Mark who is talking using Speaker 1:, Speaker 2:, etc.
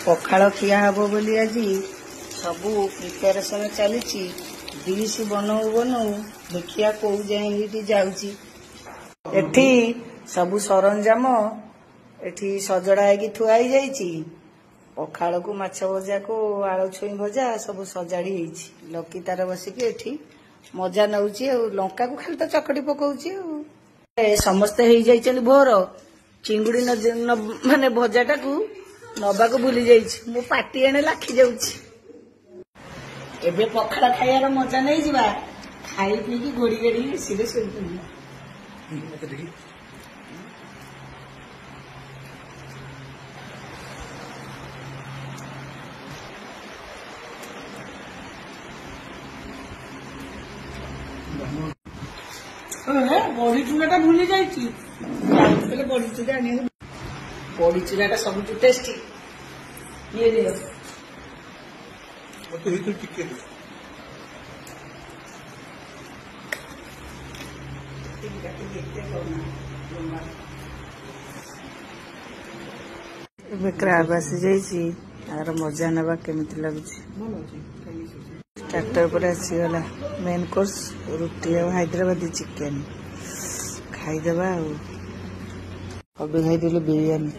Speaker 1: ପଖାଳ ଖିଆ ହବ ବୋଲି ଆଜି ସବୁ ପ୍ରିପାରେସନ୍ ଚାଲିଛି। ଡିସ୍ ବନଉ ବନଉ ଦେଖିବା କୋଉ ଯାଏଁ ଏଇଠି ଯାଉଛି। ଏଠି ସବୁ ସରଞ୍ଜାମ ଏଠି ସଜଡ଼ା ହେଇକି ଥୁଆ ହେଇଯାଇଛି। ପଖାଳକୁ ମାଛ ଭଜାକୁ ଆଳୁ ଛୁଇଁ ଭଜା ସବୁ ସଜାଡ଼ି ହେଇଛି। ଲକି ତାର ବସିକି ଏଠି ମଜା ନଉଛି ଆଉ ଲଙ୍କାକୁ ଖାଲି ତ ଚକଟି ପକଉଛି। ଆଉ ସମସ୍ତେ ହେଇଯାଇଛନ୍ତି ଭୋର। ଚିଙ୍ଗୁଡ଼ି ମାନେ ଭଜାଟାକୁ ନବାକୁ ଭୁଲି ଯାଇଛି, ମୋ ପାଟି ଏଣେ ଲାଖି ଯାଉଛି। ଏବେ ପଖାଳ ଖାଇବାର ମଜା ନେଇଯିବା, ଖାଇ ପିଇକି ଘୋଡ଼ି ଘାଡ଼ି ଏସିରେ ଶୋଇପଡ଼ିବା। ବଢି ଚୁରାଟା ଭୁଲି ଯାଇଛି, ଯାଇଥିଲେ ବଢି ଚୁରା ଆଣିବାକୁ। ବଢି ଚୁରାଟା ସବୁଠୁ ଟେଷ୍ଟି। ଇଏ ଦିଅ।
Speaker 2: ମତେ ଭିତରୁ ଟିକେ ଦିଅ।
Speaker 1: ଏବେ କ୍ରାବ ଆସିଯାଇଛି, ଆର ମଜା ନେବା କେମିତି ଲାଗୁଛି। ଷ୍ଟାର୍ଟର ପରେ ଆସିଗଲା ମେନ୍ କୋର୍ସ, ରୁଟି ଆଉ ହାଇଦ୍ରାବାଦୀ ଚିକେନ। ଖାଇଦେବା। ଆଉ ଅବି ଖାଇଦେଲେ ବିରିୟାନୀ।